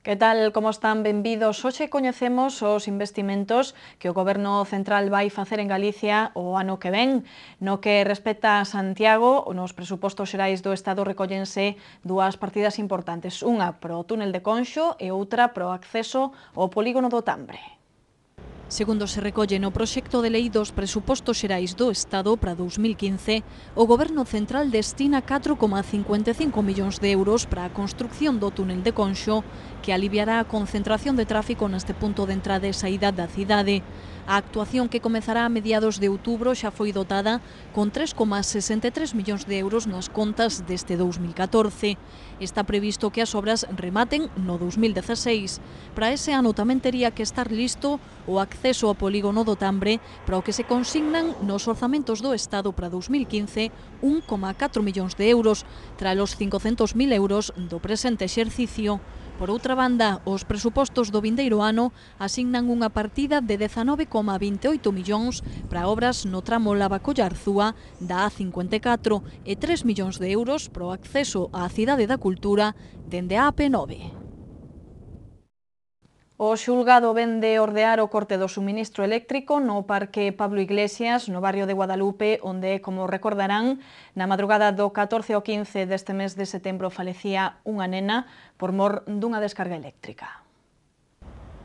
Que tal, como están? Benvidos. Hoxe coñecemos os investimentos que o Goberno Central vai facer en Galicia o ano que ven. No que respecta a Santiago, nos presupostos xerais do Estado recollense dúas partidas importantes. Unha pro túnel de Conxo e outra pro acceso ao polígono do Tambre. Segundo se recolle no proxecto de lei dos presupostos xerais do Estado para 2015, o Goberno Central destina 4,55 millóns de euros para a construcción do túnel de Conxo, que aliviará a concentración de tráfico neste punto de entrada e saída da cidade. A actuación, que comezará a mediados de outubro, xa foi dotada con 3,63 millóns de euros nas contas deste 2014. Está previsto que as obras rematen no 2016. Para ese ano tamén tería que estar listo o acceso ao polígono do Tambre, para o que se consignan nos orzamentos do Estado para 2015 1,4 millóns de euros, tras os 500.000 euros do presente exercicio. Por outra banda, os presupostos do vindeiro ano asignan unha partida de 19,28 millóns para obras no tramo Lavacollarzúa da A54 e 3 millóns de euros para o acceso á Cidade da Cultura dende a AP9. O xulgado ven de ordear o corte do suministro eléctrico no Parque Pablo Iglesias, no barrio de Guadalupe, onde, como recordarán, na madrugada do 14 ao 15 deste mes de setembro falecía unha nena por mor dunha descarga eléctrica.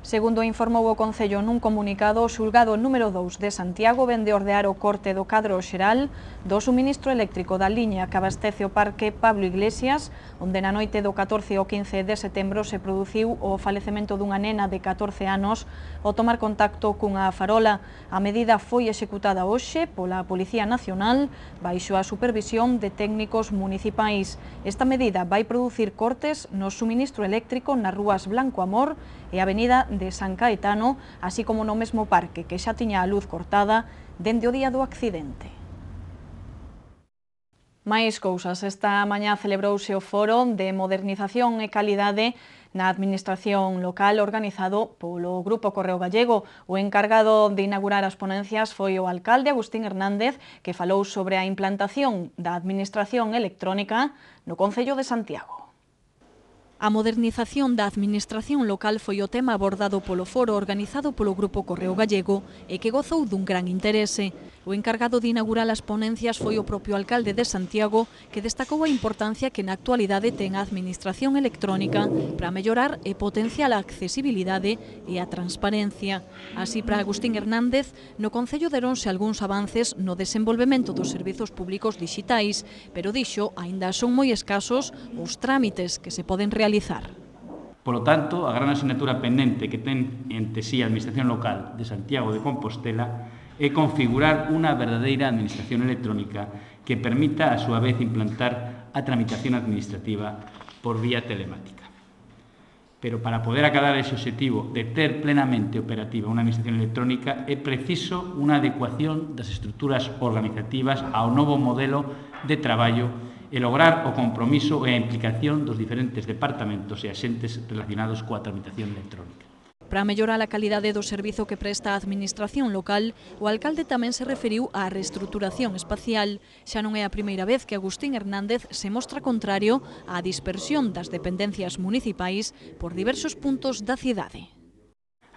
Segundo informou o Concello nun comunicado, o xulgado número 2 de Santiago ven de ordear o corte do cadro xeral do suministro eléctrico da liña que abastece o Parque Pablo Iglesias, onde na noite do 14 ao 15 de setembro se produciu o falecemento dunha nena de 14 anos ao tomar contacto cunha farola. A medida foi executada hoxe pola Policía Nacional baixo a supervisión de técnicos municipais. Esta medida vai producir cortes no suministro eléctrico nas rúas Blanco Amor e a Avenida de San Caetano, así como no mesmo parque que xa tiña a luz cortada dende o día do accidente. Máis cousas. Esta mañá celebrouse o Foro de Modernización e Calidade na Administración Local organizado polo Grupo Correo Gallego. O encargado de inaugurar as ponencias foi o alcalde Agustín Hernández, que falou sobre a implantación da Administración electrónica no Concello de Santiago. A modernización da administración local foi o tema abordado polo foro organizado polo Grupo Correo Gallego e que gozou dun gran interese. O encargado de inaugurar as ponencias foi o propio alcalde de Santiago, que destacou a importancia que na actualidade ten a administración electrónica para mellorar e potenciar a accesibilidade e a transparencia. Así, para Agustín Hernández, no Concello deronse algúns avances no desenvolvemento dos servizos públicos dixitais, pero dixo, aínda son moi escasos os trámites que se poden realizar. Polo tanto, a gran asignatura pendente que ten ente sí a Administración Local de Santiago de Compostela é configurar unha verdadeira administración electrónica que permita, a súa vez, implantar a tramitación administrativa por vía telemática. Pero para poder acadar ese objetivo de ter plenamente operativa unha administración electrónica é preciso unha adecuación das estruturas organizativas ao novo modelo de traballo e lograr o compromiso e a implicación dos diferentes departamentos e axentes relacionados coa tramitación electrónica. Para mellorar a calidade do servizo que presta a administración local, o alcalde tamén se referiu á reestruturación espacial. Xa non é a primeira vez que Agustín Hernández se mostra contrario á dispersión das dependencias municipais por diversos puntos da cidade.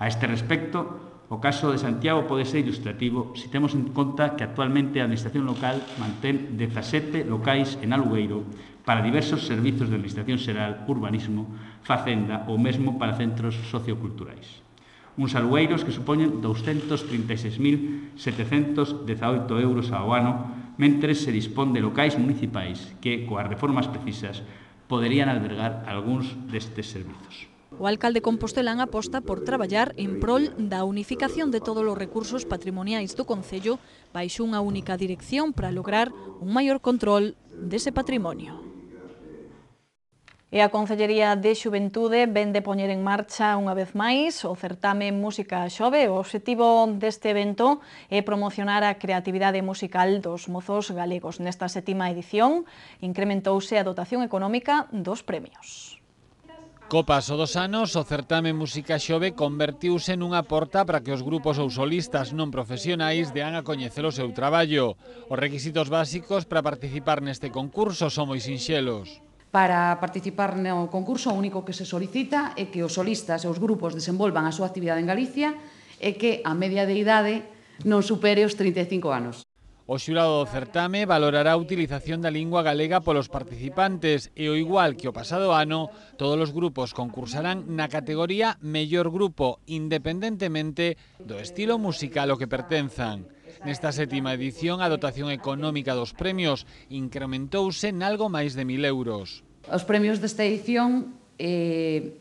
A este respecto, o caso de Santiago pode ser ilustrativo se temos en conta que actualmente a Administración local mantén 17 locais en alugueiro para diversos servizos de Administración xeral, urbanismo, facenda ou mesmo para centros socioculturais. Uns alugueiros que supoñen 236.718 euros ao ano, mentres se dispón de locais municipais que, coas reformas precisas, poderían albergar algúns destes servizos. O alcalde compostelán aposta por traballar en prol da unificación de todos os recursos patrimoniais do Concello baixo unha única dirección para lograr un maior control dese patrimonio. E a Concellería de Xuventude ven de poñer en marcha unha vez máis o certame Música Xove. O obxectivo deste evento é promocionar a creatividade musical dos mozos galegos. Nesta 7ª edición incrementouse a dotación económica dos premios. Co paso dos anos, o certame Música Xove convertiuse nunha porta para que os grupos ou solistas non profesionais dean a coñecer o seu traballo. Os requisitos básicos para participar neste concurso son moi sinxelos. Para participar no concurso, o único que se solicita é que os solistas e os grupos desenvolvan a súa actividade en Galicia e que a media de idade non supere os 35 anos. O xurado do certame valorará a utilización da lingua galega polos participantes e, ao igual que o pasado ano, todos os grupos concursarán na categoría Mellor Grupo, independentemente do estilo musical ao que pertenzan. Nesta sétima edición, a dotación económica dos premios incrementouse en algo máis de 1.000 euros. Os premios desta edición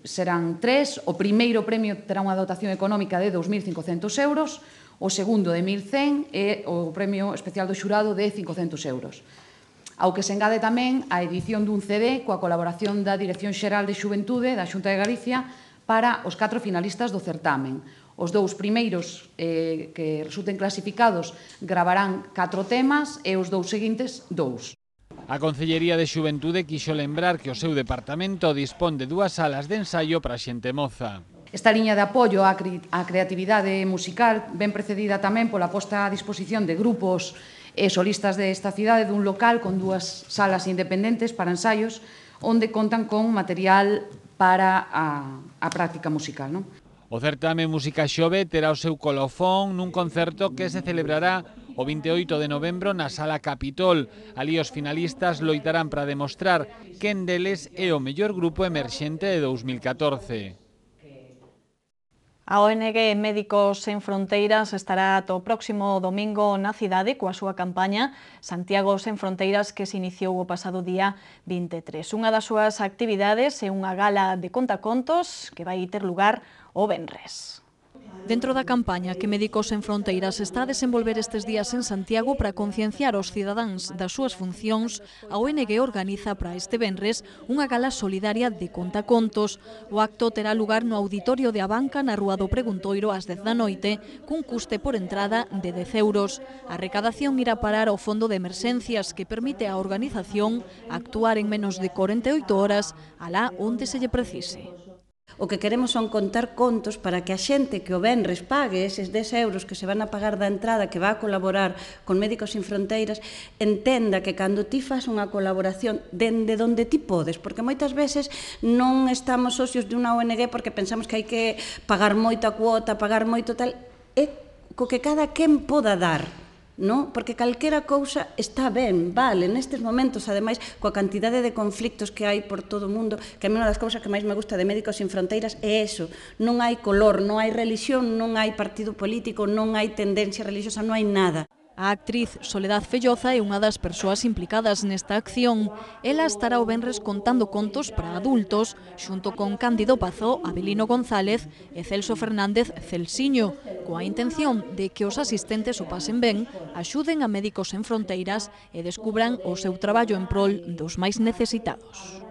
serán 3. O primeiro premio terá unha dotación económica de 2.500 euros, o segundo de 1.100 e o premio especial do xurado de 500 euros. Ao que se engade tamén a edición dun CD coa colaboración da Dirección Xeral de Xuventude da Xunta de Galicia para os 4 finalistas do certamen. Os 2 primeiros que resulten clasificados gravarán 4 temas e os 2 seguintes 2. A Concellería de Xuventude quixo lembrar que o seu departamento dispón de 2 salas de ensaio para xente moza. Esta liña de apoio á creatividade musical ven precedida tamén pola posta a disposición de grupos e solistas desta cidade dun local con 2 salas independentes para ensaios onde contan con material para a práctica musical. O certame Música Xove terá o seu colofón nun concerto que se celebrará o 28 de novembro na Sala Capitol. Alí os finalistas loitarán para demostrar quen deles é o mellor grupo emerxente de 2014. A ONG Médicos Sen Fronteiras estará ata o próximo domingo na cidade coa súa campaña Santiago Sen Fronteiras, que se iniciou o pasado día 23. Unha das súas actividades é unha gala de contacontos que vai ter lugar o venres. Dentro da campaña que Médicos Sen Fronteiras está a desenvolver estes días en Santiago para concienciar os cidadáns das súas funcións, a ONG organiza para este venres unha gala solidaria de contacontos. O acto terá lugar no auditorio de Abanca na Rúa do Preguntoiro ás 10 da noite, cun custe por entrada de 10 euros. A recadación irá parar ao Fondo de Emerxencias, que permite á organización actuar en menos de 48 horas alá onde se lle precise. O que queremos son contar contos para que a xente que o venres pague eses 10 euros que se van a pagar da entrada, que va a colaborar con Médicos Sen Fronteiras, entenda que cando ti fas unha colaboración dende donde ti podes, porque moitas veces non estamos socios de unha ONG porque pensamos que hai que pagar moita cuota, pagar moito tal, é co que cada quen poda dar. No? Porque calquera cousa está ben, vale, nestes momentos, ademais, coa cantidade de conflictos que hai por todo o mundo, que a mí unha das cousas que máis me gusta de Médicos Sen Fronteiras é eso, non hai color, non hai religión, non hai partido político, non hai tendencia religiosa, non hai nada. A actriz Soledad Felloza é unha das persoas implicadas nesta acción. Ela estará o venres contando contos para adultos, xunto con Cándido Pazó, Abelino González e Celso Fernández Celsiño, coa intención de que os asistentes o pasen ben, axuden a Médicos Sen Fronteiras e descubran o seu traballo en prol dos máis necesitados.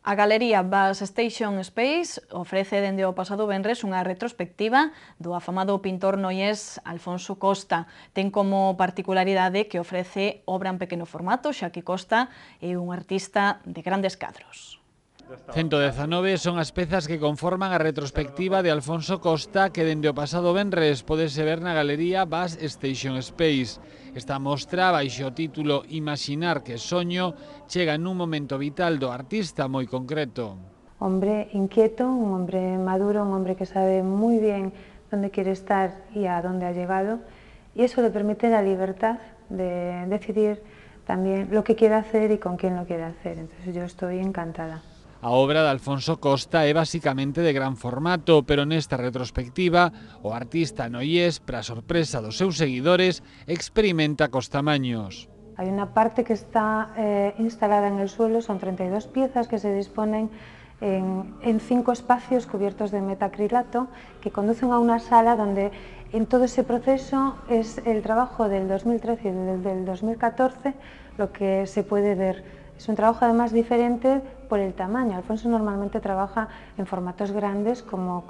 A Galería Bus Station Space ofrece dende o pasado venres unha retrospectiva do afamado pintor noiés Alfonso Costa. Ten como particularidade que ofrece obra en pequeno formato, xa que Costa é un artista de grandes cadros. 119 son as pezas que conforman a retrospectiva de Alfonso Costa que dende o pasado venres podese ver na Galería Bus Station Space. Esta mostra, baixo o título Imaxinar que soño, chega nun momento vital do artista moi concreto. Hombre inquieto, un hombre maduro, un hombre que sabe muy bien dónde quiere estar y a dónde ha llegado, y eso le permite la libertad de decidir también lo que quiere hacer y con quién lo quiere hacer. Entonces yo estoy encantada. A obra de Alfonso Costa é basicamente de gran formato, pero nesta retrospectiva o artista noiés, para sorpresa dos seus seguidores, experimenta cos tamaños. Hay una parte que está instalada en el suelo, son 32 piezas que se disponen en 5 espacios cubiertos de metacrilato que conducen a una sala donde en todo ese proceso es el trabajo del 2013 y del 2014 lo que se puede ver. Es un trabajo además diferente por el tamaño. Alfonso normalmente trabaja en formatos grandes como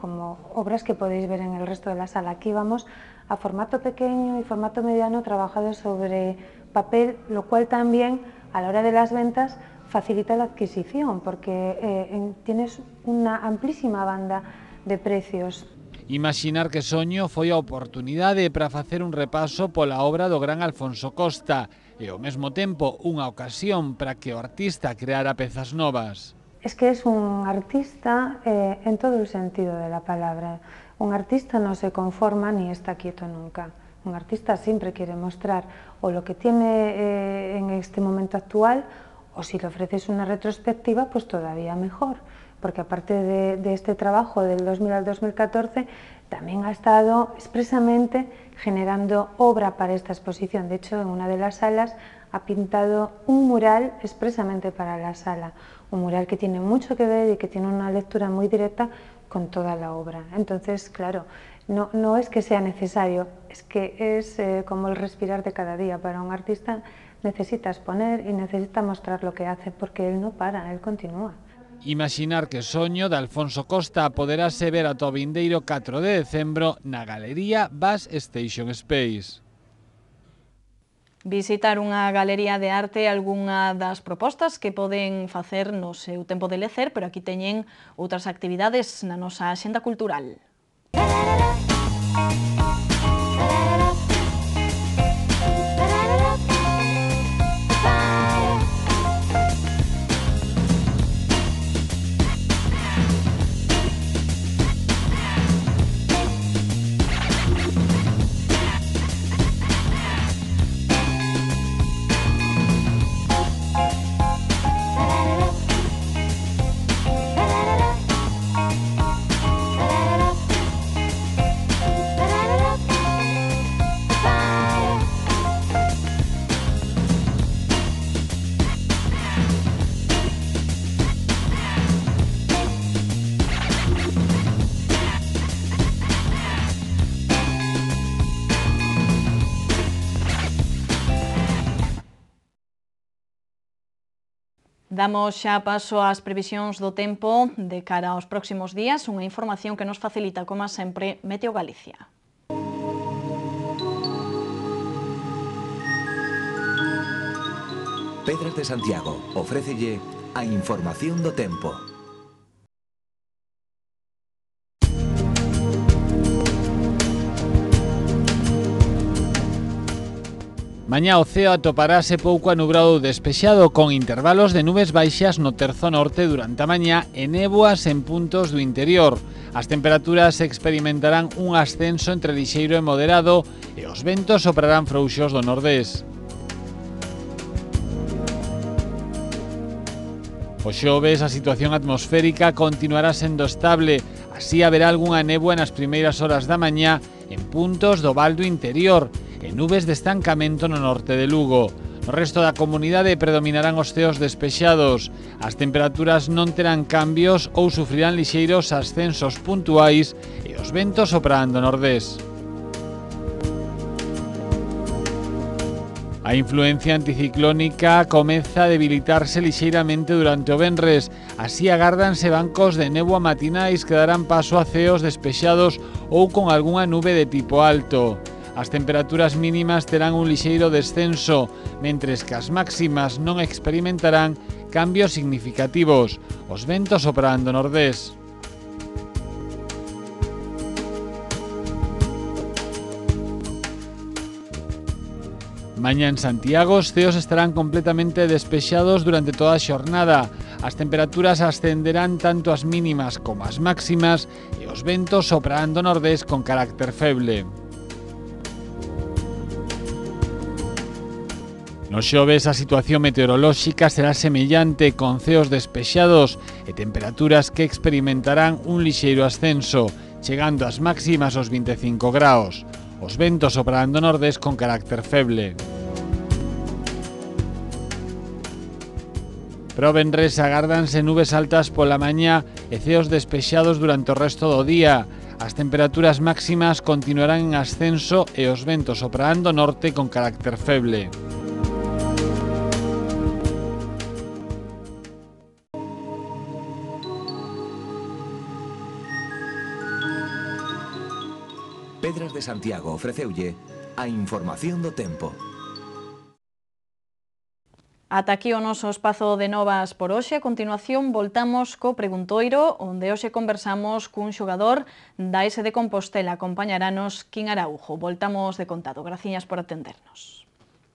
obras que podéis ver en el resto de la sala. Aquí vamos a formato pequeño y formato mediano trabajado sobre papel, lo cual también a la hora de las ventas facilita la adquisición porque tienes una amplísima banda de precios. Imaxinar que soño foi a oportunidade para facer un repaso pola obra do gran Alfonso Costa. e ao mesmo tempo unha ocasión para que o artista creara pezas novas. Es que es un artista en todo el sentido de la palabra. Un artista no se conforma ni está quieto nunca. Un artista siempre quiere mostrar o lo que tiene en este momento actual, o si le ofreces una retrospectiva, pues todavía mejor, porque aparte de este trabajo del 2000 al 2014, también ha estado expresamente generando obra para esta exposición. De hecho, en una de las salas ha pintado un mural expresamente para la sala, un mural que tiene mucho que ver y que tiene una lectura muy directa con toda la obra. Entonces, claro, no es que sea necesario, es que es como el respirar de cada día. Para un artista necesita exponer y necesita mostrar lo que hace, porque él no para, él continúa. Imaginar que soño de Alfonso Costa poderase ver ata o vindeiro 4 de decembro na Galería Bass Station Space. Visitar unha galería de arte é algunha das propostas que poden facer no seu tempo de lecer, pero aquí teñen outras actividades na nosa axenda cultural. Damos xa paso ás previsións do tempo de cara aos próximos días, unha información que nos facilita, como sempre, Meteo Galicia. Pedras de Santiago ofrécelle a información do tempo. Mañá o ceo atoparase pouco anubrado ou despexado con intervalos de nubes baixas no terzo norte durante a mañá e néboas en puntos do interior. As temperaturas experimentarán un ascenso entre lixeiro e moderado e os ventos soprarán frouxos do nordés. O xoves a situación atmosférica continuará sendo estable, así haberá algunha néboa nas primeiras horas da mañá en puntos do val do interior e nubes de estancamento no norte de Lugo. No resto da comunidade predominarán os ceos despexados. As temperaturas non terán cambios ou sufrirán lixeiros ascensos puntuais e os ventos soprarán do nordés. A influencia anticiclónica comeza a debilitarse lixeiramente durante o venres, así agárdanse bancos de néboa matinais que darán paso a ceos despexados ou con algunha nube de tipo alto. As temperaturas mínimas terán un lixeiro descenso, mentres que as máximas non experimentarán cambios significativos. Os ventos soprarán do nordés. Mañá en Santiago os ceos estarán completamente despexados durante toda a xornada. As temperaturas ascenderán tanto as mínimas como as máximas e os ventos soprarán do nordés con carácter feble. No xoves a situación meteorolóxica será semellante, con ceos despexados e temperaturas que experimentarán un lixeiro ascenso, chegando as máximas aos 25 graus. Os ventos soprarán do nordés con carácter feble. Para o venres agárdanse nubes altas pola mañá e ceos despexados durante o resto do día. As temperaturas máximas continuarán en ascenso e os ventos soprarán do norte con carácter feble. Pedras de Santiago ofreceulle a información do tempo. Ata aquí o noso espazo de novas por hoxe. A continuación voltamos co Preguntoiro, onde hoxe conversamos cun xogador da S de Compostela. Acompañaranos Quín Araujo. Voltamos de contado. Graciñas por atendernos.